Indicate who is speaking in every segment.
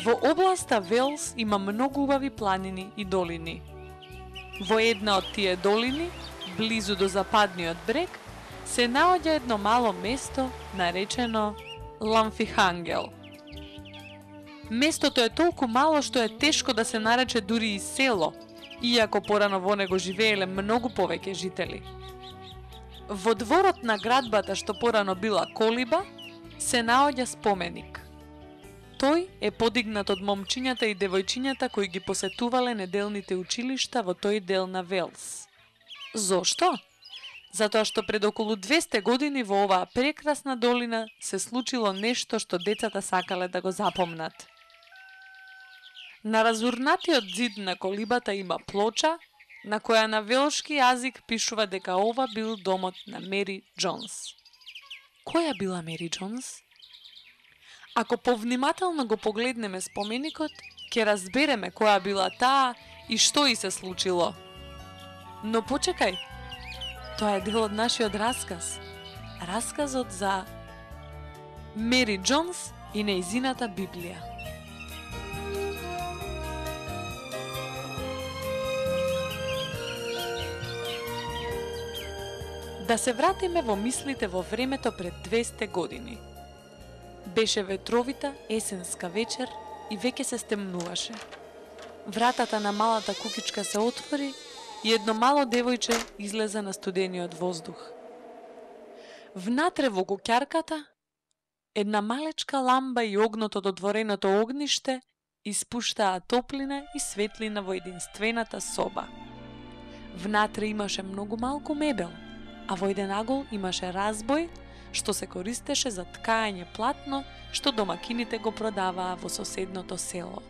Speaker 1: Во областа Велс има многу убави планини и долини. Во една од тие долини, близу до западниот брег, се наоѓа едно мало место наречено Ламфихангел. Местото е толку мало што е тешко да се нарече дури и село, иако порано во него живееле многу повеќе жители. Во дворот на градбата што порано била колиба, се наоѓа споменик. Тој е подигнат од момчињата и девојчињата кои ги посетувале неделните училишта во тој дел на Велс. Зошто? Затоа што пред околу 200 години во оваа прекрасна долина се случило нешто што децата сакале да го запомнат. На разурнатиот зид на колибата има плоча, на која на велшки јазик пишува дека ова бил домот на Мери Џонс. Која била Мери Џонс? Ако повнимателно го погледнеме споменикот, ќе разбереме која била таа и што и се случило. Но почекај, тоа е дел од нашиот расказ. Расказот за Мери Џонс и нејзината Библија. Да се вратиме во мислите во времето пред 200 години. Беше ветровита есенска вечер и веќе се стемнуваше. Вратата на малата кукичка се отвори и едно мало девојче излезе на студениот воздух. Внатре во куќарката, една малечка ламба и огнот од отвореното огниште испуштаа топлина и светлина во единствената соба. Внатре имаше многу малку мебел, а во еден агол имаше разбој што се користеше за ткање платно што домакините го продаваа во соседното село.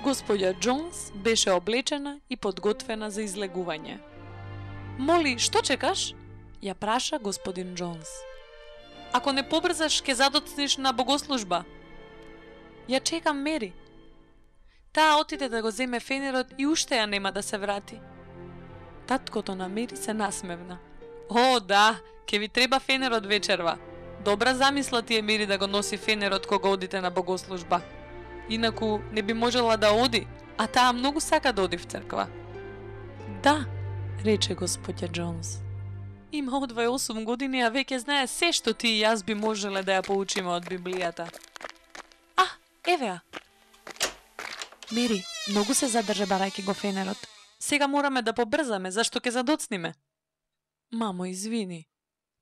Speaker 1: Господја Џонс беше облечена и подготвена за излегување. Моли, што чекаш? Ја праша господин Џонс. Ако не побрзаш, ке задоцниш на богослужба. Ја чекам Мери. Таа отиде да го земе фенерот и уште ја нема да се врати. Таткото на Мери се насмевна. О, да, ке ви треба фенерот вечерва. Добра замисла ти е, Мери, да го носи фенерот кога одите на богослужба. Инаку не би можела да оди, а таа многу сака да оди в црква. Да, рече господја Џонс. Има од 28 години, а веќе знае се што ти и јас би можеле да ја поучиме од Библијата. А, еве ја. Мери, многу се задржа барајќи го фенерот. Сега мораме да побрзаме, зашто ќе задоцниме. Мамо, извини.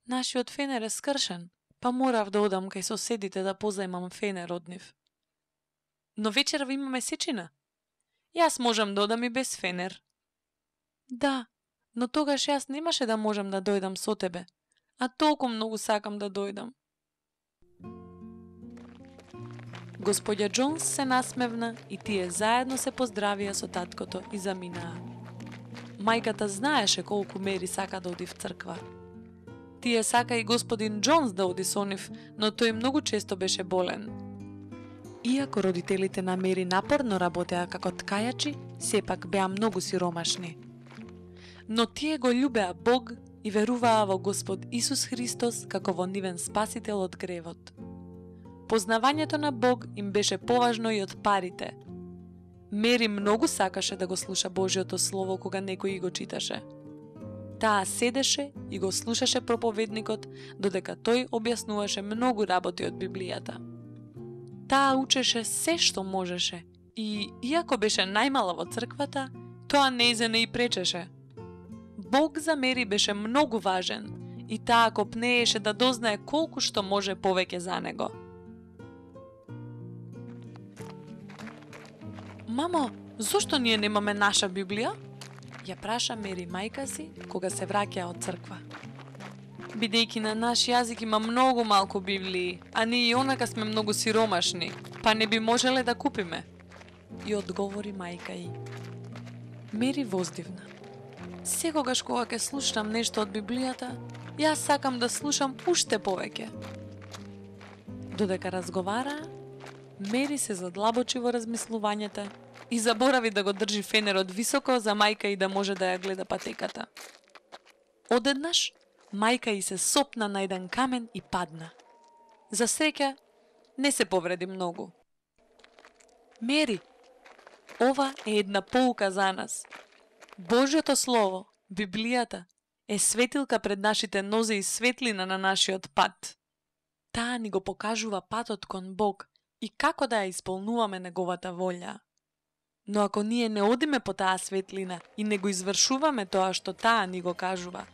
Speaker 1: Нашиот фенер е скршен, па морав да одам кај соседите да позајмам фенер од нив. Но вечерва имаме сечина. Јас можам да одам и без фенер. Да, но тогаш јас немаше да можам да дојдам со тебе, а толку многу сакам да дојдам. Господја Џонс се насмевна и тие заедно се поздравија со таткото и заминаа. Мајката знаеше колку Мери сака да оди в црква. Тие сака и господин Џонс да оди со нив, но тој многу често беше болен. Иако родителите на Мери напорно работеа како ткајачи, сепак беа многу сиромашни. Но тие го љубеа Бог и веруваа во Господ Исус Христос како во нивен спасител од гревот. Познавањето на Бог им беше поважно и од парите. Мери многу сакаше да го слуша Божјото Слово кога некој го читаше. Таа седеше и го слушаше проповедникот, додека тој објаснуваше многу работи од Библијата. Таа учеше се што можеше и, иако беше најмала во црквата, тоа нејзе не и пречеше. Бог за Мери беше многу важен и таа копнееше да дознае колку што може повеќе за него. Мамо, зошто ние немаме наша Библија? Ја праша Мери мајка си кога се враќа од црква. Бидејќи на наш јазик има многу малку Библии, а ние и онака сме многу сиромашни, па не би можеле да купиме. И одговори мајка ѝ. Мери воздивна. Секогаш кога ќе слушам нешто од Библијата, јас сакам да слушам уште повеќе. Додека разговараа, Мери се задлабочи во размислувањата и заборави да го држи фенерот високо за мајка и да може да ја гледа патеката. Одеднаш, мајка и се сопна на еден камен и падна. За среќа, не се повреди многу. Мери, ова е една поука за нас. Божјото Слово, Библијата, е светилка пред нашите нозе и светлина на нашиот пат. Таа ни го покажува патот кон Бог и како да ја исполнуваме Неговата волја. Но ако ние не одиме по таа светлина и не го извршуваме тоа што таа ни го кажува,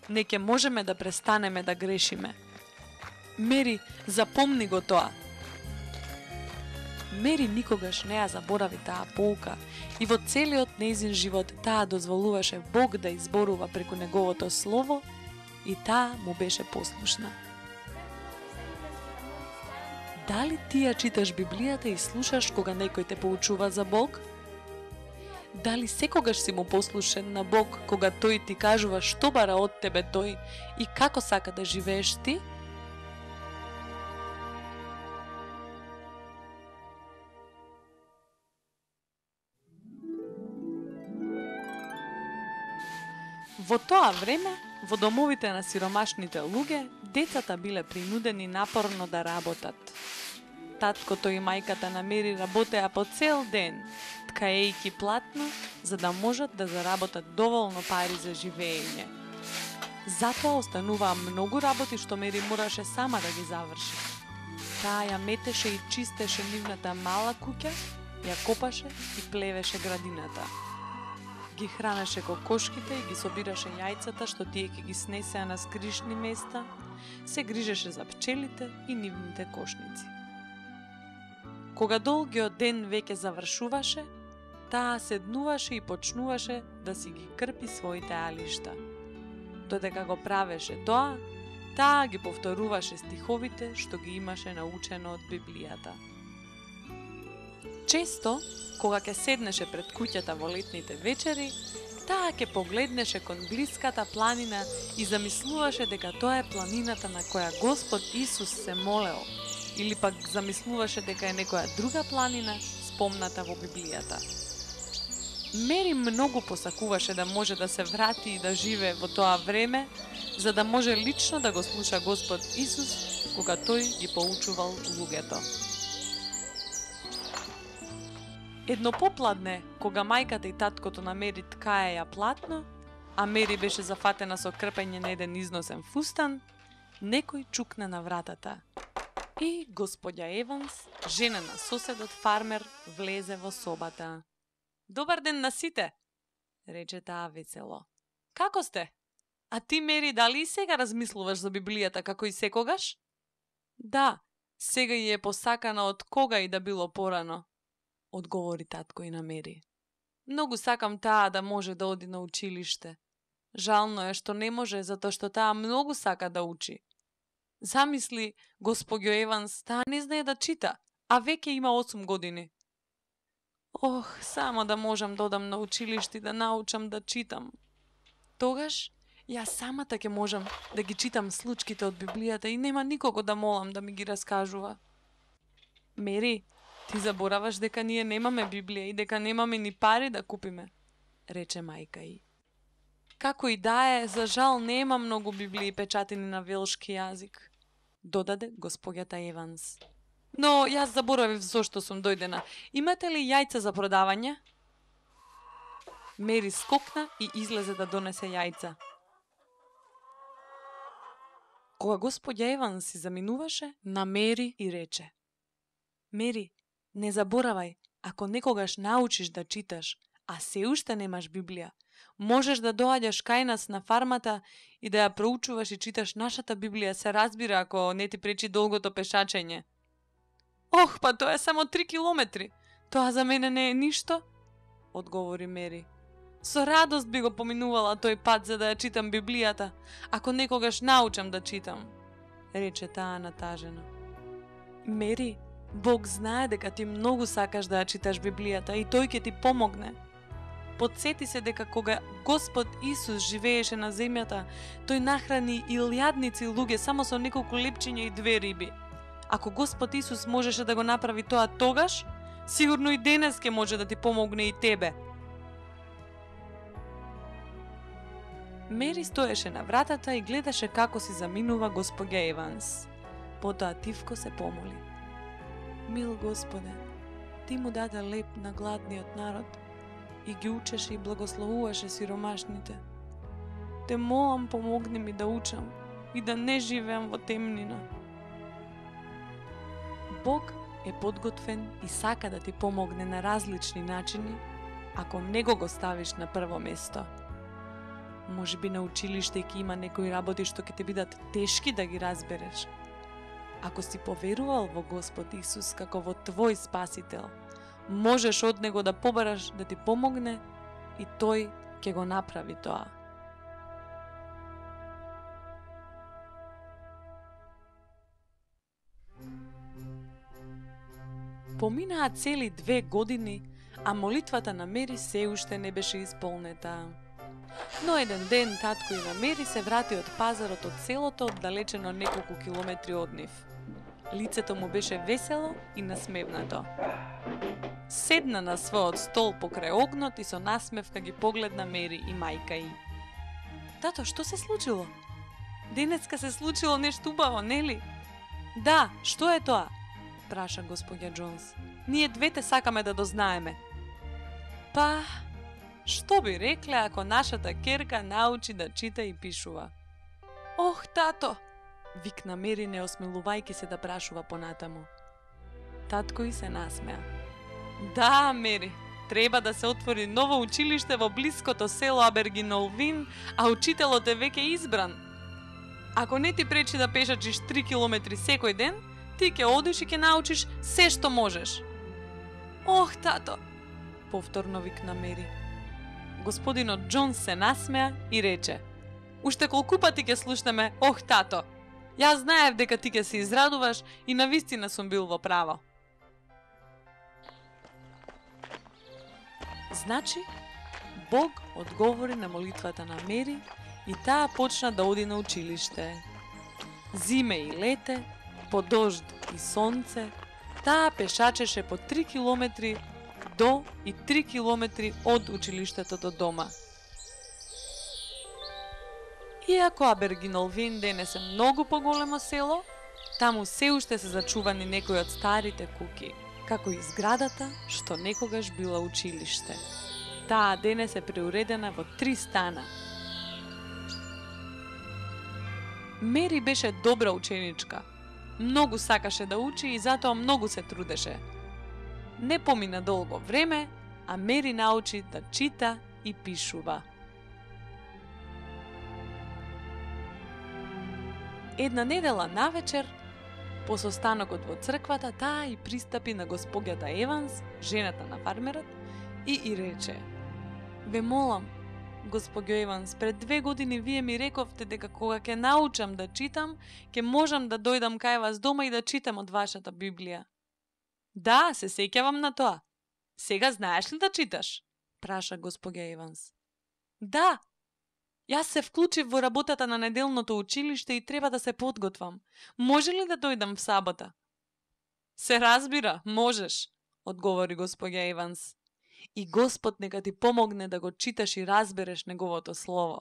Speaker 1: не ќе можеме да престанеме да грешиме. Мери, запомни го тоа. Мери никогаш не ја заборави таа поука и во целиот нејзин живот таа дозволуваше Бог да изборува преку Неговото Слово и таа му беше послушна. Дали ти ја читаш Библијата и слушаш кога некој те поучува за Бог? Дали секогаш си му послушен на Бог кога тој ти кажува што бара од тебе тој и како сака да живееш ти? Во тоа време, во домовите на сиромашните луѓе, децата биле принудени напорно да работат. Таткото и мајката на Мери работеа по цел ден, ткаејки платно, за да можат да заработат доволно пари за живење. Затоа остануваа многу работи што Мери мораше сама да ги заврши. Таа ја метеше и чистеше нивната мала куќа, ја копаше и плевеше градината. Ги хранеше кокошките и ги собираше јајцата што тие ќе ги снесеа на скришни места, се грижеше за пчелите и нивните кошници. Кога долгиот ден веќе завршуваше, таа седнуваше и почнуваше да си ги крпи своите алишта. Додека го правеше тоа, таа ги повторуваше стиховите што ги имаше научено од Библијата. Често, кога ќе седнеше пред куќата во летните вечери, таа ќе погледнеше кон блиската планина и замислуваше дека тоа е планината на која Господ Исус се молел, или пак замислуваше дека е некоја друга планина спомната во Библијата. Мери многу посакуваше да може да се врати и да живее во тоа време, за да може лично да го слуша Господ Исус кога тој ги поучувал луѓето. Едно попладне, кога мајката и таткото на Мери ткаеја платно, а Мери беше зафатена со крпење на еден износен фустан, некој чукна на вратата. И господја Еванс, жена на соседот фармер, влезе во собата. "Добар ден на сите," рече таа весело. "Како сте? А ти, Мери, дали и сега размислуваш за Библијата како и секогаш?" "Да, сега и е посакана од кога и да било порано," одговори татко и на Мери. "Многу сакам таа да може да оди на училиште. Жално е што не може затоа што таа многу сака да учи. Замисли, господјо Еванс, таа не знае да чита, а веќе има 8 години. Ох, само да можам да одам на училиште и да научам да читам. Тогаш, јас самата ќе можам да ги читам случките од Библијата и нема никого да молам да ми ги раскажува." "Мери, ти забораваш дека ние немаме Библија и дека немаме ни пари да купиме," рече мајка ѝ. "Како и да е, за жал нема многу Библии печатени на велшки јазик," додаде господјата Еванс. "Но јас заборавив зошто сум дојдена. Имате ли јајца за продавање?" Мери скокна и излезе да донесе јајца. Кога господја Еванс си заминуваше, на Мери и рече: "Мери, не заборавај, ако некогаш научиш да читаш, а се уште немаш Библија, можеш да доаѓаш кај нас на фармата и да ја проучуваш и читаш нашата Библија, се разбира ако не ти пречи долгото пешачење." "Ох, па тоа е само 3 километри. Тоа за мене не е ништо," одговори Мери. "Со радост би го поминувала тој пат за да ја читам Библијата, ако некогаш научам да читам," рече таа натажено. "Мери, Бог знае дека ти многу сакаш да ја читаш Библијата и тој ќе ти помогне. Потсети се дека кога Господ Исус живееше на земјата, тој нахрани илјадници луѓе само со неколку лепчиња и 2 риби. Ако Господ Исус можеше да го направи тоа тогаш, сигурно и денес ќе може да ти помогне и тебе." Мери стоеше на вратата и гледаше како си заминува господја Еванс. Потоа тивко се помоли: "Мил Господе, ти му даде леп на гладниот народ и ги учеше и благословуваше сиромашните. Те молам, помогни ми да учам и да не живеам во темнина. Бог е подготвен и сака да ти помогне на различни начини, ако него го ставиш на прво место. Може би на училиште ќе има некои работи што ќе ти бидат тешки да ги разбереш. Ако си поверувал во Господ Исус како во твој спасител, можеш од него да побараш да ти помогне и тој ќе го направи тоа. Поминаа цели 2 години, а молитвата на Мери се уште не беше исполнета. Но еден ден татко и на Мери се врати од пазарот од селото, оддалечено неколку километри од нив. Лицето му беше весело и насмевнато. Седна на својот стол покрај огнот и со насмевка ги погледна Мери и мајка ѝ. Тато, што се случило? Денеска се случило нешто убаво, нели? Да, што е тоа? Праша господја Џонс. Ние двете сакаме да дознаеме. Па, што би рекле ако нашата керка научи да чита и пишува? Ох, тато! Викна Мери, не осмелувајќи се да прашува понатаму. Татко и се насмеа. Да, Мери, треба да се отвори ново училиште во блиското село Абергинолвин, а учителот е веќе избран. Ако не ти пречи да пешачиш 3 километри секој ден, ти ќе одиш и ќе научиш се што можеш. Ох, тато! Повторно викна Мери. Господинот Џонс се насмеа и рече: Уште колку пати ќе слушнеме ох, тато? Јас знаев дека ти ќе се израдуваш и навистина сум бил во право. Значи, Бог одговори на молитвата на Мери и таа почна да оди на училиште. Зиме и лете, по дожд и сонце, таа пешачеше по 3 километри до и 3 километри од училиштето до дома. Иако Абергинолвин денес е многу поголемо село, таму се уште се зачувани некои од старите куки, како и зградата што некогаш била училиште. Таа денес е преуредена во 3 стана. Мери беше добра ученичка. Многу сакаше да учи и затоа многу се трудеше. Не помина долго време, а Мери научи да чита и пишува. Една недела навечер, по состанокот во црквата, таа и пристапи на госпоѓата Еванс, жената на фармерот, и рече: Ве молам, госпоѓо Еванс, пред 2 години вие ми рековте дека кога ќе научам да читам, ќе можам да дојдам кај вас дома и да читам од вашата Библија. Да, се сеќавам на тоа. Сега знаеш ли да читаш? Праша госпоѓа Еванс. Да. Јас се вклучив во работата на неделното училиште и треба да се подготвам. Може ли да дојдам в сабота? Се разбира, можеш, одговори госпоѓа Еванс. И Господ нека ти помогне да го читаш и разбереш неговото слово.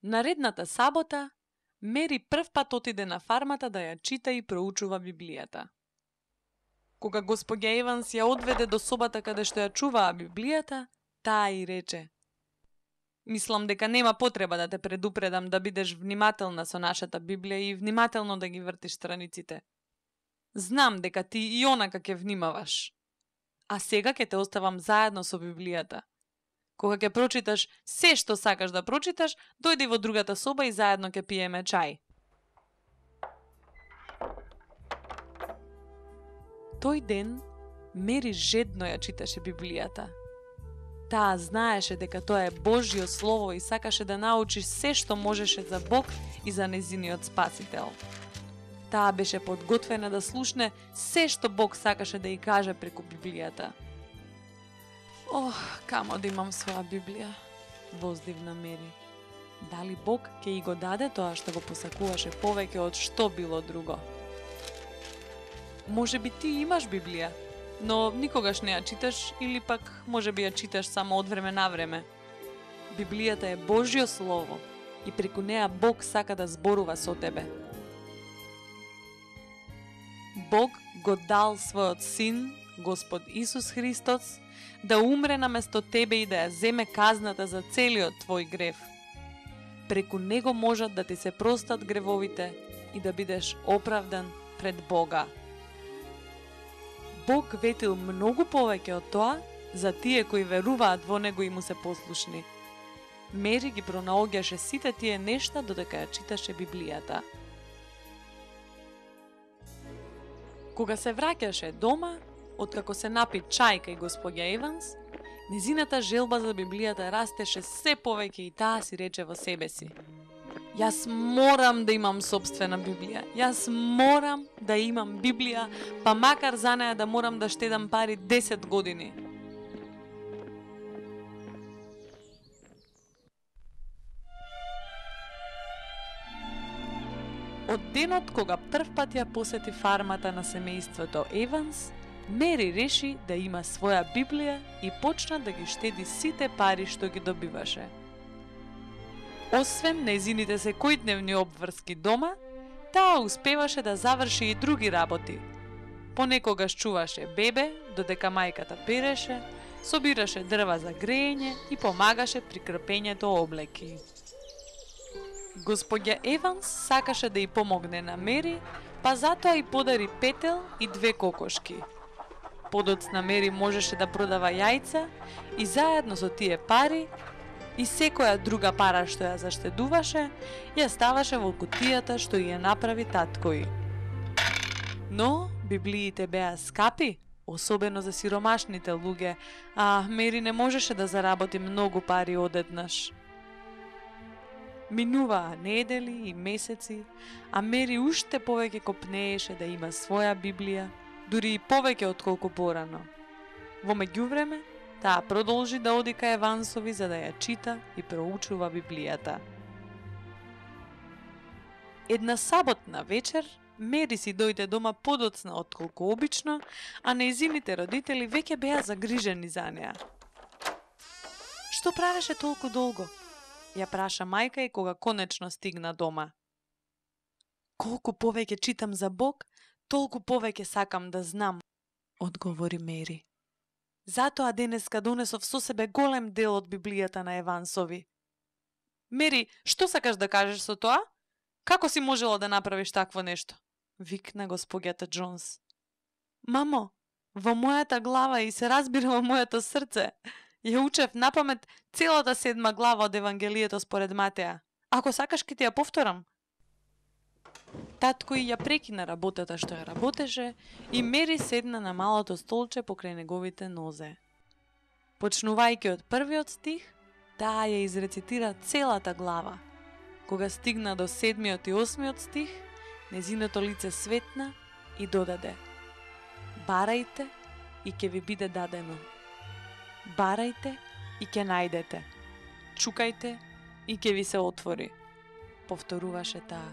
Speaker 1: Наредната сабота, Мери првпат отиде на фармата да ја чита и проучува Библијата. Кога госпоѓа Еванс ја одведе до собата каде што ја чуваа Библијата, таа и рече: Мислам дека нема потреба да те предупредам да бидеш внимателна со нашата Библија и внимателно да ги вртиш страниците. Знам дека ти и онака ќе внимаваш. А сега ќе те оставам заедно со Библијата. Кога ќе прочиташ се што сакаш да прочиташ, дојди во другата соба и заедно ќе пиеме чај. Тој ден Мери жедно ја читаше Библијата. Таа знаеше дека тоа е Божјо слово и сакаше да научи се што можеше за Бог и за нејзиниот Спасител. Таа беше подготвена да слушне се што Бог сакаше да ја каже преку Библијата. Ох, камо да имам своја Библија, воздивна Мери. Дали Бог ќе и го даде тоа што го посакуваше повеќе од што било друго? Може би ти имаш Библија, но никогаш не ја читаш или пак може би ја читаш само од време на време. Библијата е Божјо слово и преку неа Бог сака да зборува со тебе. Бог го дал својот син, Господ Исус Христос, да умре наместо тебе и да ја земе казната за целиот твој грев. Преку него можат да ти се простат гревовите и да бидеш оправдан пред Бога. Бог ветил многу повеќе од тоа за тие кои веруваат во него и му се послушни. Мери ги пронаоѓаше сите тие нешта додека ја читаше Библијата. Кога се враќаше дома, откако се напи чај кај господја Еванс, незината желба за Библијата растеше се повеќе и таа си рече во себе си: Јас морам да имам сопствена Библија. Јас морам да имам Библија, па макар за неја да морам да штедам пари 10 години. Од денот кога првпат ја посети фармата на семејството Еванс, Мери реши да има своја Библија и почна да ги штеди сите пари што ги добиваше. Освен нејзините секојдневни обврски дома, таа успеваше да заврши и други работи. Понекогаш чуваше бебе, додека мајката переше, собираше дрва за греење и помагаше при крпењето облеки. Господја Еванс сакаше да ја помогне на Мери, па затоа и подари петел и 2 кокошки. Подоцна Мери можеше да продава јајца и заедно со тие пари и секоја друга пара што ја заштедуваше, ја ставаше во кутијата што ја направи таткој. Но библиите беа скапи, особено за сиромашните луѓе, а Мери не можеше да заработи многу пари одеднаш. Минуваа недели и месеци, а Мери уште повеќе копнееше да има своја Библија, дури и повеќе отколку порано. Во меѓувреме, таа продолжи да оди кај Евансови за да ја чита и проучува Библијата. Една саботна вечер, Мери си дојде дома подоцна отколку обично, а нејзините родители веќе беа загрижени за неа. Што правеше толку долго? Ја праша мајка и кога конечно стигна дома. Колку повеќе читам за Бог, толку повеќе сакам да знам, одговори Мери. Затоа денеска донесов со себе голем дел од Библијата на Евансови. Мери, што сакаш да кажеш со тоа? Како си можела да направиш такво нешто? Викна госпоѓата Џонс. Мамо, во мојата глава и се разбира во моето срце, ја учев напамет целата 7 глава од Евангелието според Матеја. Ако сакаш ќе ти ја повторам. Татко ја прекина работата што ја работеше и Мери седна на малото столче покрај неговите нозе. Почнувајќи од првиот стих, таа ја изрецитира целата глава. Кога стигна до 7 и 8 стих, незиното лице светна и додаде: Барајте и ќе ви биде дадено. Барајте и ќе најдете. Чукајте и ќе ви се отвори. Повторуваше таа.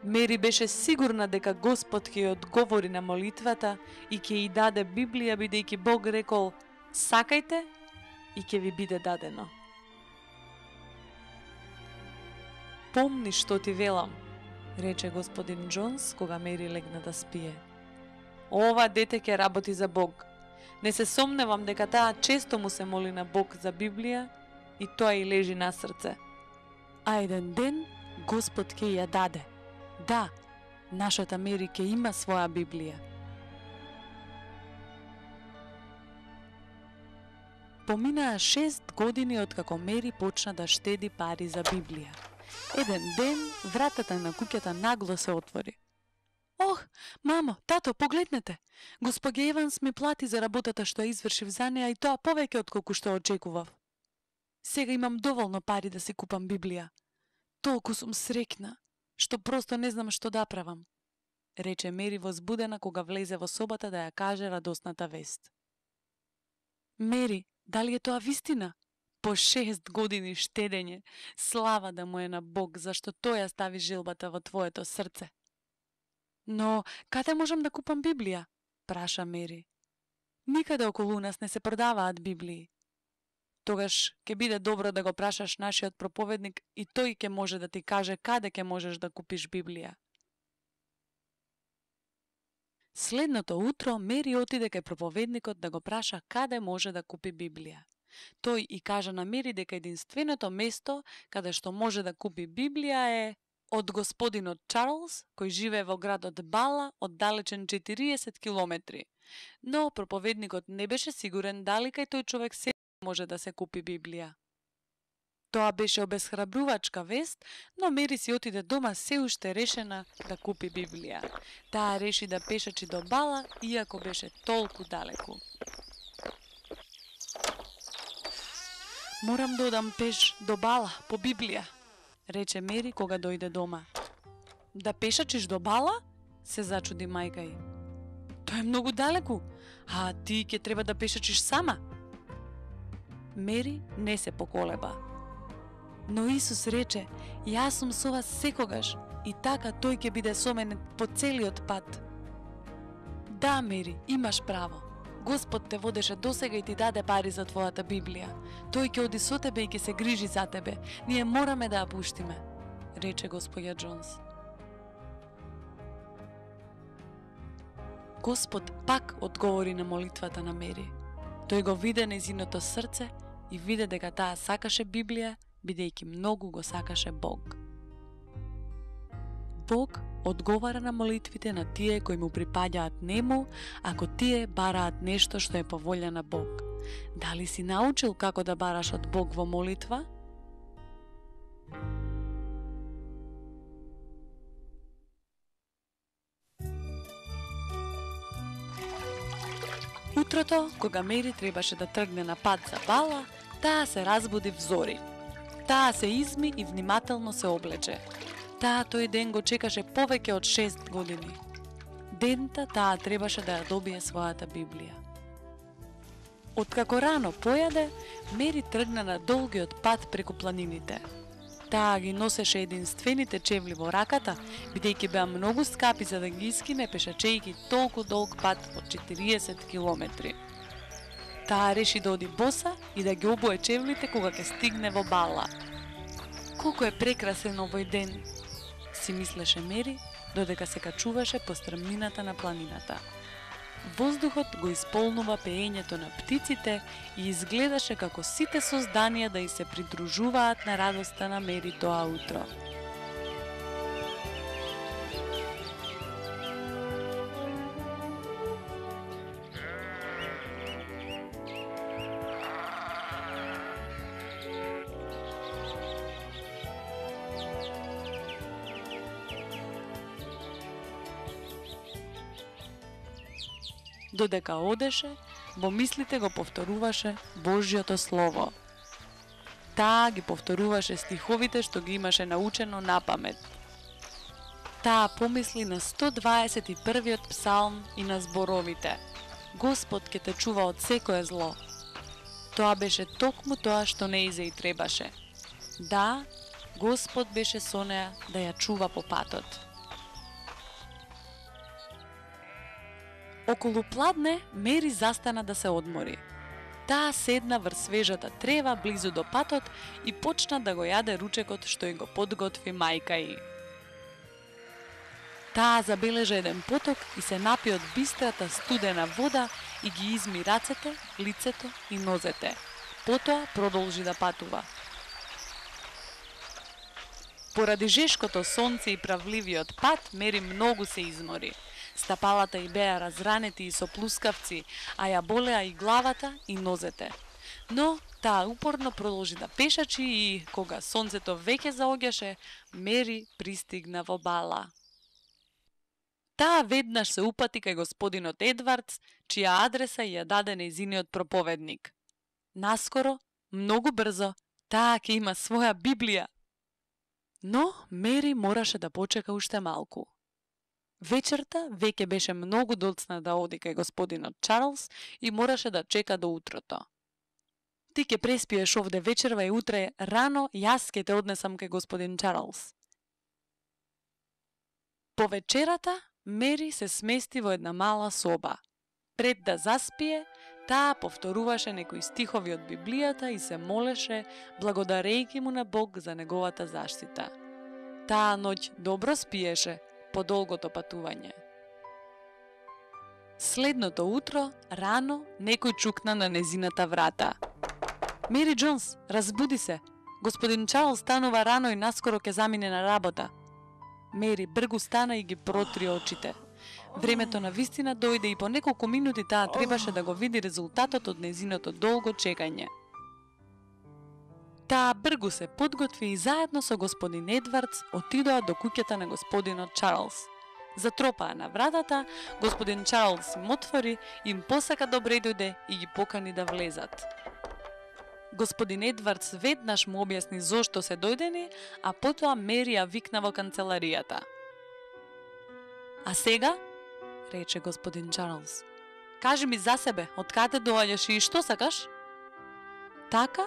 Speaker 1: Мери беше сигурна дека Господ ќе ја одговори на молитвата и ќе ја даде Библија, бидејќи Бог рекол: Сакајте и ќе ви биде дадено. Помни што ти велам, рече господин Џонс кога Мери легна да спие. Ова дете ќе работи за Бог. Не се сомневам дека таа често му се моли на Бог за Библија и тоа и лежи на срце. А еден ден Господ ќе ја даде. Да, нашата Мери ќе има своја Библија. Поминаа 6 години откако Мери почна да штеди пари за Библија. Еден ден вратата на куќата нагло се отвори. Ох, мамо, тато, погледнете! Господја Еванс ми плати за работата што ја извршив за неа и тоа повеќе отколку што очекував. Сега имам доволно пари да си купам Библија. Толку сум среќна, што просто не знам што да правам, рече Мери возбудена кога влезе во собата да ја каже радосната вест. Мери, дали е тоа вистина? По 6 години штедење, слава да му е на Бог, зашто тој ја стави желбата во твоето срце. Но, каде можам да купам Библија? Праша Мери. Никаде околу нас не се продаваат Библии. Тогаш ќе биде добро да го прашаш нашиот проповедник и тој ќе може да ти каже каде ќе можеш да купиш Библија. Следното утро Мери отиде кај проповедникот да го праша каде може да купи Библија. Тој и кажа на Мери дека единственото место каде што може да купи Библија е од господинот Чарлс, кој живее во градот Бала, оддалечен 40 километри. Но проповедникот не беше сигурен дали кај тој човек се може да се купи Библија. Тоа беше обесхрабрувачка вест, но Мери си отиде дома се уште решена да купи Библија. Таа реши да пешачи до Бала, иако беше толку далеку. Морам да одам пеш до Бала по Библија, рече Мери кога дојде дома. Да пешачиш до Бала? Се зачуди мајка ѝ. Тоа е многу далеку, а ти ќе треба да пешачиш сама. Мери не се поколеба. Но Исус рече, јас сум со вас секогаш и така тој ќе биде со мене по целиот пат. Да, Мери, имаш право. Господ те водеше досега и ти даде пари за твојата Библија. Тој ќе оди со тебе и ќе се грижи за тебе. Ние мораме да ја пуштиме, рече господја Џонс. Господ пак одговори на молитвата на Мери. Тој го виде нејзиното срце и виде дека таа сакаше Библија, бидејќи многу го сакаше Бог. Бог одговара на молитвите на тие кои му припаѓаат нему, ако тие бараат нешто што е по волја на Бог. Дали си научил како да бараш од Бог во молитва? Утрото, кога Мери требаше да тргне на пат за Бала, таа се разбуди взори. Таа се изми и внимателно се облече. Таа тој ден го чекаше повеќе од 6 години. Дента таа требаше да ја добие својата Библија. Откако рано појаде, Мери тргна на долгиот пат преку планините. Таа ги носеше единствените чевли во раката, бидејќи беа многу скапи за да ги искине пешачејќи толку долг пат од 40 километри. Таа реши да оди боса и да ги обуе чевлите кога ќе стигне во Бала. Колку е прекрасен овој ден, си мислеше Мери, додека се качуваше по стрмнината на планината. Воздухот го исполнува пеењето на птиците и изгледаше како сите созданија да и се придружуваат на радоста на Мери тоа утро. Додека одеше, во мислите го повторуваше Божјото Слово. Таа ги повторуваше стиховите што ги имаше научено напамет. Таа помисли на 121-иот псалм и на зборовите: Господ ќе те чува од секое зло. Тоа беше токму тоа што нејзе и требаше. Да, Господ беше со неа да ја чува по патот. Околу пладне, Мери застана да се одмори. Таа седна врз свежата трева близу до патот и почна да го јаде ручекот што ја го подготви мајка ѝ. Таа забележа еден поток и се напи од бистрата студена вода и ги изми рацете, лицето и нозете. Потоа продолжи да патува. Поради жешкото сонце и правливиот пат, Мери многу се измори. Стапалата ѝ беа разранети и со плускавци, а ја болеа и главата и нозете. Но таа упорно продолжи да пешачи и, кога сонцето веќе заоѓаше, Мери пристигна во Бала. Таа веднаш се упати кај господинот Едвардс, чија адреса ја даде нејзиниот проповедник. Наскоро, многу брзо, таа ќе има своја Библија. Но Мери мораше да почека уште малку. Вечерта веќе беше многу доцна да оди кај господинот Чарлс и мораше да чека до утрото. Ти ќе преспиеш овде вечерва и утре рано јас ќе те однесам кај господин Чарлс. По вечерата Мери се смести во една мала соба. Пред да заспие, таа повторуваше некои стихови од Библијата и се молеше, благодарејќи му на Бог за неговата заштита. Таа ноќ добро спиеше по долгото патување. Следното утро, рано, некој чукна на незината врата. Мери Џонс, разбуди се. Господин Чарлс станува рано и наскоро ќе замине на работа. Мери бргу стана и ги протри очите. Времето на вистина дојде и по неколку минути таа требаше да го види резултатот од незиното долго чекање. Таа бргу се подготви и заедно со господин Едвардс отидоа до куќата на господинот Чарлс. Затропаа на вратата, господин Чарлс им отвори, им посака добре дојде и ги покани да влезат. Господин Едвардс веднаш му објасни зошто се дојдени, а потоа Мери ја викна во канцеларијата. А сега, рече господин Чарлс, кажи ми за себе, од каде доаѓаш и што сакаш? Така,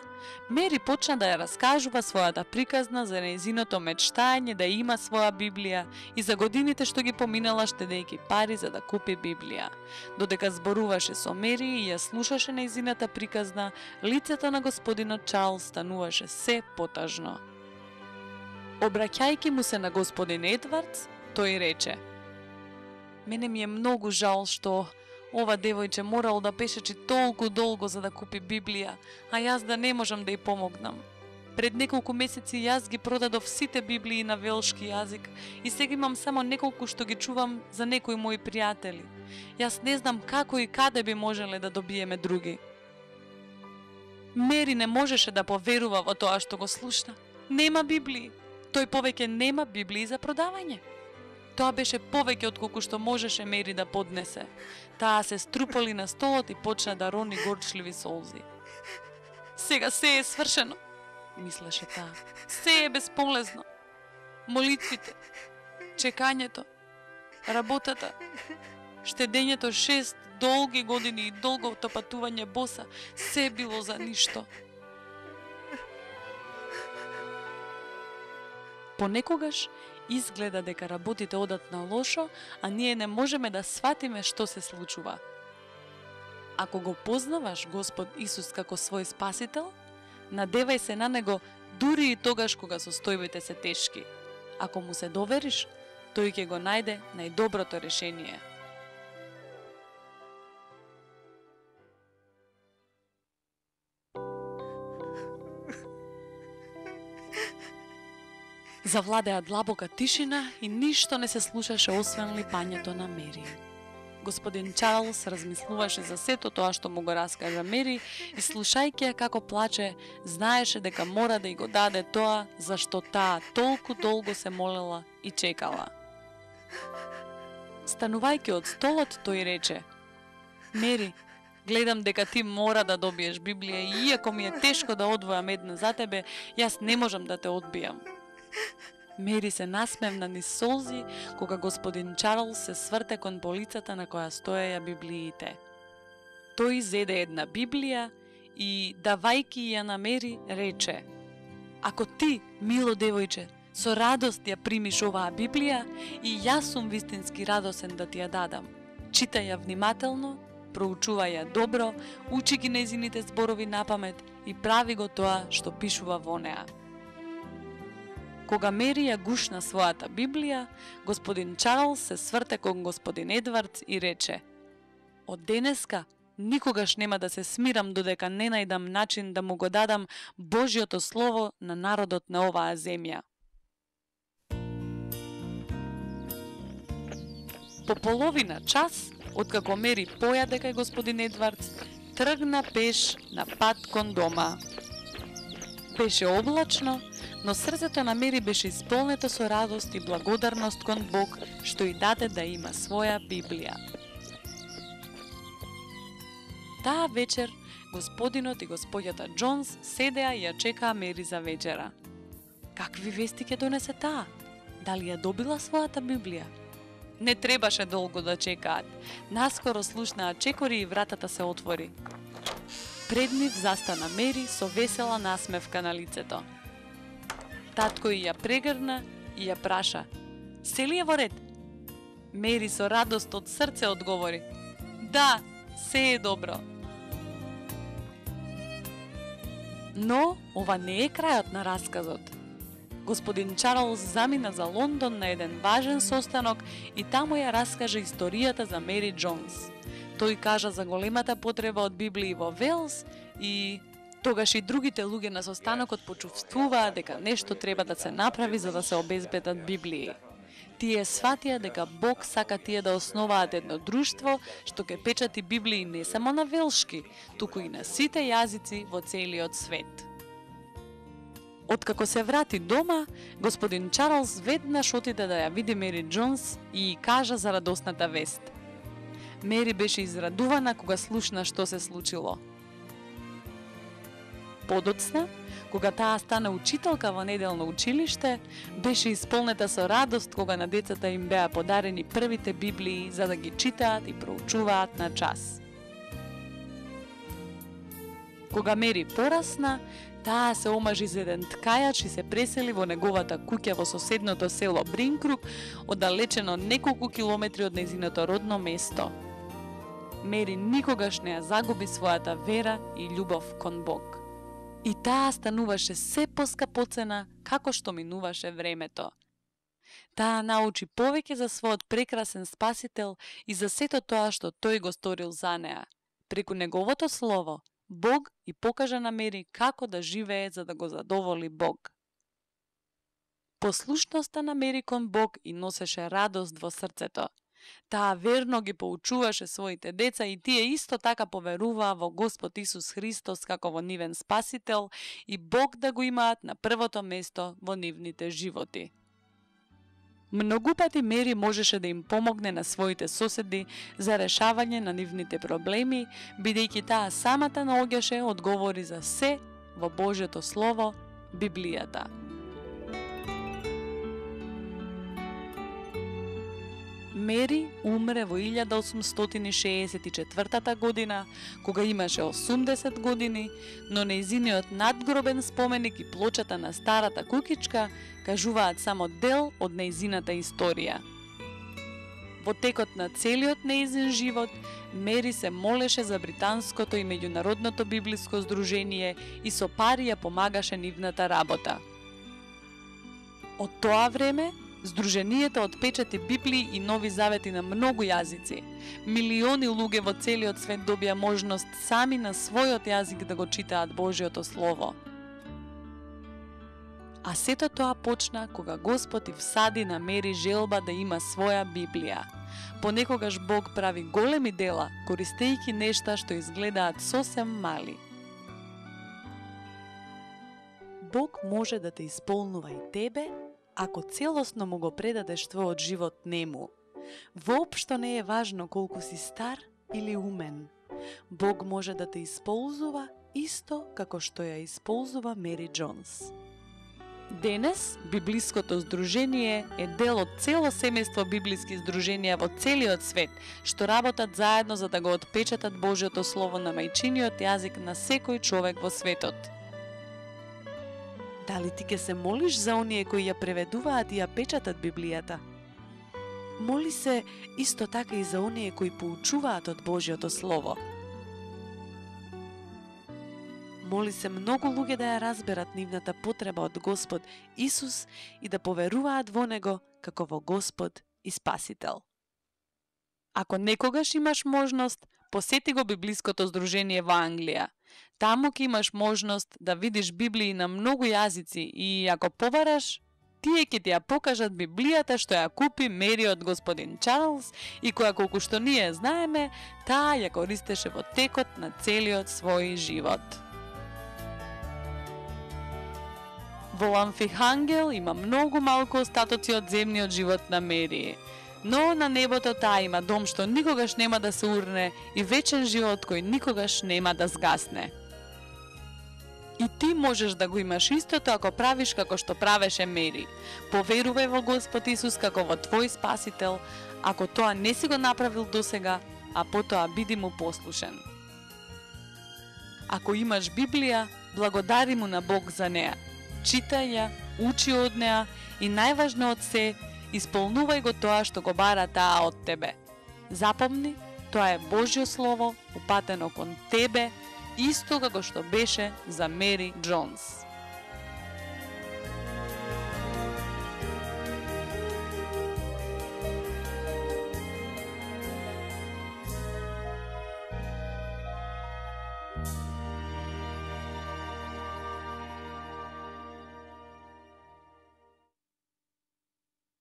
Speaker 1: Мери почна да ја раскажува својата приказна за нејзиното мечтање да има своја Библија и за годините што ги поминала штедејќи пари за да купи Библија. Додека зборуваше со Мери и ја слушаше нејзината приказна, лицето на господинот Чарлс стануваше се потажно. Обраќајќи му се на господин Едвардс, тој рече: Мене ми е многу жал што ова девојче морало да пешечи толку долго за да купи Библија, а јас да не можам да ја помогнам. Пред неколку месеци јас ги продадов сите Библии на велшки јазик и сега имам само неколку што ги чувам за некои мои пријатели. Јас не знам како и каде би можеле да добиеме други. Мери не можеше да поверува во тоа што го слушна. Нема Библии. Тој повеќе нема Библии за продавање. Тоа беше повеќе од колку што можеше Мери да поднесе. Таа се струпали на столот и почна да рони горчливи солзи. Сега се е свршено, мислеше таа. Се е бесполезно. Молитвите, чекањето, работата, штедењето 6 долги години и долгото патување боса, се било за ништо. Понекогаш изгледа дека работите одат на лошо, а ние не можеме да сватиме што се случува. Ако го познаваш Господ Исус како свој спасител, надевај се на Него дури и тогаш кога состојбите се тешки. Ако му се довериш, тој ќе го најде најдоброто решение. Завладеа длабока тишина и ништо не се слушаше освен липањето на Мери. Господин Чарлс размислуваше за сето тоа што му го раскажа Мери и слушајќи ја како плаче, знаеше дека мора да ја го даде тоа за што таа толку долго се молела и чекала. Станувајќи од столот, тој рече: Мери, гледам дека ти мора да добиеш Библија и иако ми е тешко да одвојам една за тебе, јас не можам да те одбијам. Мери се насмевна низ солзи, кога господин Чарлс се сврте кон полицата на која стоеја библиите. Тој зеде една Библија и, давајки ја на Мери, рече: Ако ти, мило девојче, со радост ја примиш оваа Библија, и јас сум вистински радосен да ти ја дадам. Читај ја внимателно, проучувај ја добро, учи ги нејзините зборови напамет и прави го тоа што пишува во неа. Кога Мери ја гушна својата Библија, господин Чарлс се сврте кон господин Едвардс и рече: Од денеска никогаш нема да се смирам додека не најдам начин да му го дадам Божјото слово на народот на оваа земја. По половина час, откако Мери појаде кај господин Едвардс, тргна пеш на пат кон дома. Беше облачно, но срцето на Мери беше исполнето со радост и благодарност кон Бог, што и даде да има своја Библија. Таа вечер, господинот и господјата Џонс седеа и ја чекаа Мери за вечера. Какви вести ќе донесе таа? Дали ја добила својата Библија? Не требаше долго да чекаат. Наскоро слушнаа чекори и вратата се отвори. Пред нив застана Мери со весела насмевка на лицето. Татко ја прегрна и ја праша: Се ли е во ред? Мери со радост од срце одговори: Да, се е добро. Но ова не е крајот на расказот. Господин Чарлс замина за Лондон на еден важен состанок и таму ја раскажа историјата за Мери Џонс. Тој кажа за големата потреба од Библии во Велс и тогаш и другите луѓе на состанокот почувствуваат дека нешто треба да се направи за да се обезбедат Библии. Тие сватија дека Бог сака тие да основаат едно друштво што ќе печати Библии не само на велшки, туку и на сите јазици во целиот свет. Откако се врати дома, господин Чарлс веднаш отиде да ја види Мери Џонс и кажа за радосната вест. Мери беше израдувана кога слушна што се случило. Подоцна, кога таа стана учителка во неделно училиште, беше исполнета со радост кога на децата им беа подарени првите Библии за да ги читаат и проучуваат на час. Кога Мери порасна, таа се омажи за еден ткајач и се пресели во неговата куќа во соседното село Бринкрук, оддалечено неколку километри од нејзиното родно место. Мери никогаш не ја загуби својата вера и љубов кон Бог. И таа стануваше се поскапоцена како што минуваше времето. Таа научи повеќе за својот прекрасен Спасител и за сето тоа што тој го сторил за неа. Преку неговото слово, Бог и покажа на Мери како да живее за да го задоволи Бог. Послушноста на Мери кон Бог и носеше радост во срцето. Таа верно ги поучуваше своите деца и тие исто така поверуваа во Господ Исус Христос како во нивен Спасител и Бог да го имаат на првото место во нивните животи. Многу пати Мери можеше да им помогне на своите соседи за решавање на нивните проблеми, бидејќи таа самата наоѓаше одговори за се во Божјото Слово, Библијата. Мери умре во 1864 година, кога имаше 80 години, но нејзиниот надгробен споменик и плочата на старата кукичка кажуваат само дел од нејзината историја. Во текот на целиот нејзин живот, Мери се молеше за британското и меѓународното библиско здружение и со пари ја помагаше нивната работа. Од тоа време, Здруженијето отпечати Библии и Нови Завети на многу јазици. Милиони луѓе во целиот свет добија можност сами на својот јазик да го читаат Божјото Слово. А сето тоа почна кога Господ и всади на Мери желба да има своја Библија. Понекогаш Бог прави големи дела, користејќи нешта што изгледаат сосем мали. Бог може да те исполнува и тебе, ако целосно му го предадеш твојот живот нему. Воопшто не е важно колку си стар или умен. Бог може да те исползува исто како што ја исползува Мери Џонс. Денес, Библиското здружение е дел од цело семејство библиски здруженија во целиот свет, што работат заедно за да го отпечатат Божјото Слово на мајчиниот јазик на секој човек во светот. Дали ти ке се молиш за оние кои ја преведуваат и ја печатат Библијата? Моли се исто така и за оние кои поучуваат од Божјото Слово. Моли се многу луѓе да ја разберат нивната потреба од Господ Исус и да поверуваат во Него како во Господ и Спасител. Ако некогаш имаш можност, посети го Библиското здружение во Англија. Таму ќе имаш можност да видиш Библии на многу јазици и ако побараш, тие ќе ти ја покажат Библијата што ја купи Мери од господин Чарлс и која колку што ние знаеме, таа ја користеше во текот на целиот свој живот. Во Ламфихангел има многу малку остатоци од земниот живот на Мери, но на небото таа има дом што никогаш нема да се урне и вечен живот кој никогаш нема да згасне. И ти можеш да го имаш истото ако правиш како што правеше Мери. Поверувај во Господ Исус како во твој Спасител, ако тоа не си го направил досега, а потоа биди му послушен. Ако имаш Библија, благодари му на Бог за неа. Читај ја, учи од неа и најважно од се, исполнувај го тоа што го бара таа од тебе. Запомни, тоа е Божјо Слово, упатено кон тебе, исто како што беше за Мери Џонс.